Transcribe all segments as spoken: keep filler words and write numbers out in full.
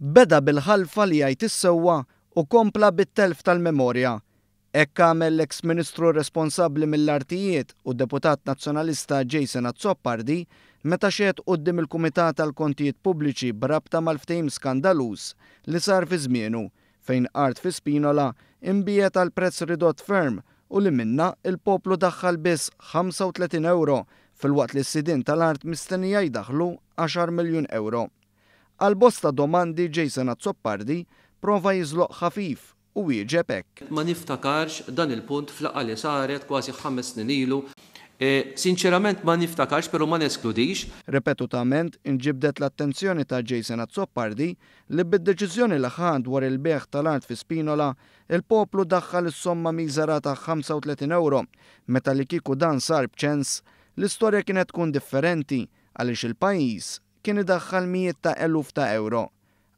Beda bil-ħalfa li jgħid is-sewwa u kompla bit-telf tal-memorja. Hekk għamel l-eks Ministru responsabbli mill-Artijiet u deputat Nazzjonalista Jason Azzopardi meta xehed quddiem il-Kumitat tal-Kontijiet Pubbliċi b'rabta mal-ftehim skandaluż li sar fi żmienu fejn art fi Spinola inbiegħet għal prezz ridott ferm u li minnha il-poplu daħħal biss ħamsa u tletin euro filwaqt li s-sidien tal-art mistennija jdaħħlu għaxar miljun euro. Għal bosta domandi Jason Azzopardi prova jiżloq ħafif u wieġeb hekk. Ma niftakarx dan il-punt fl-laqgħa li saret kważi ħames snin ilu. E, sinċerament ma niftakarx, pero ma neskludix. Ripetutament inġibdet l-attenzjoni ta' Jason Azzopardi li bid-deċiżjoni li ħa dwar il-bejgħ tal-art fi Spinola, il-poplu daħħal is-somma miżera ta' ħamsa u tletin euro, meta li kieku dan sar b'ċens, l-istorja kienet tkun differenti għaliex il-pajjiż kien idaħħal mijiet ta' eluf ta' euro.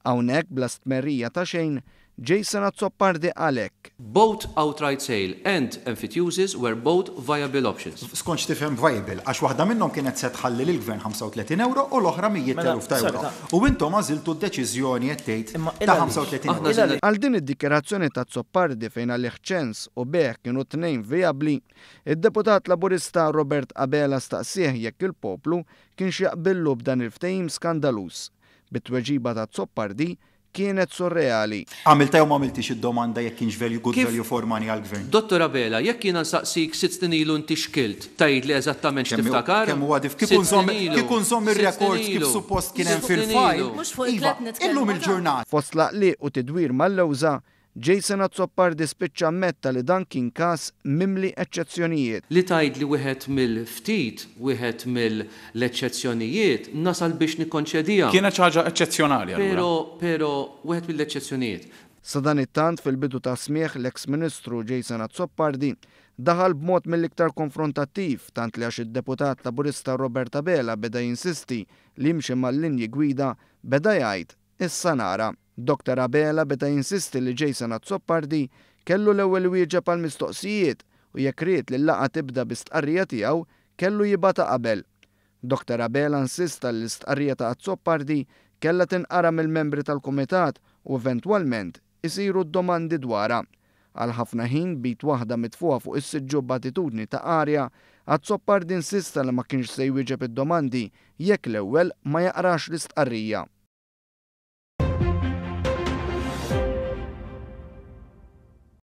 Hawnhekk bla stmerrija ta' xejn, Jason Azzopardi għalhekk. Both outright sale and emphyteusis were both viable options. Skont x'tifhem viable, għax waħda minnhom kienet se tħalli lill-gvern ħamsa u tletin euro u l-oħra mijiet Mela, eluf ta' euro. sorry, ta' U intom għażiltu d-deċiżjoni qed tgħid Imma ta' il għaliex? ħamsa u tletin Aħna euro. għażilna Għal din id-dikjerazzjoni ta' Azzopardi fejn għalih ċens u bejgħ kienu tnejn vijabbli, id-deputat Laburista Robert Abela staqsih jekk il-poplu kienx jaqbillu b'dan il-ftehim skandaluż. Bit-tweġiba ta' Azzopardi kienet surreali. Għamilta jew ma għamiltix id-domanda jekk kienx value, good Kif? value for money għall-gvern? Dottor Abela, jekk jiena nsaqsik sitt snin ilu inti x'kilt, tgħidli eżattament Kemm hu- x'tiftakar? Kemm huwa dif- Sitt kieku nżomm snin ilu. kieku nżomm Sitt ir-records snin kif ilu. suppost kien hemm Sitt snin fil-file. ilu. Mhux fuq Iva, il-klet nitkellmu, illum ta' il-ġurnata. Fost laqliq u tidwir mal-lewża, Jason Azzopardi spiċċa ammetta li dan kien każ mimli eċċezzjonijiet. Li tgħid li wieħed mill-ftit, wieħed mill-eċċezzjonijiet, nasal biex nikkonċedija. Kienet xi ħaġa eċċezzjonali allura. Pero, pero wieħed mill-eċċezzjonijiet. Sadanittant fil-bidu ta' smieħ l-eks Ministru Jason Azzopardi daħal b'mod mill-iktar konfrontattiv tant li għax id-deputat Laburista Robert Abela beda jinsisti li jimxi mal-linji gwida beda jgħid issa nara. Doktor Abela beda jinsisti li Jason Azzopardi kellu l-ewwel wieġeb għal mistoqsijiet u jekk ried li l-laqgħa tibda bi stqarrija tiegħu kellu jibgħatha qabel. Doktor Abela insista li l-istqarrija ta' Azzopardi kellha tinqara mill-membri tal-kumitat u eventwalment isiru d-domandi dwarha. Għal ħafna ħin bit waħda mitfuha fuq is-siġġu b'attitudni ta' arja, Azzopardi insista li ma kienx se jwieġeb id-domandi jekk l-ewwel ma jaqrax l-istqarrija.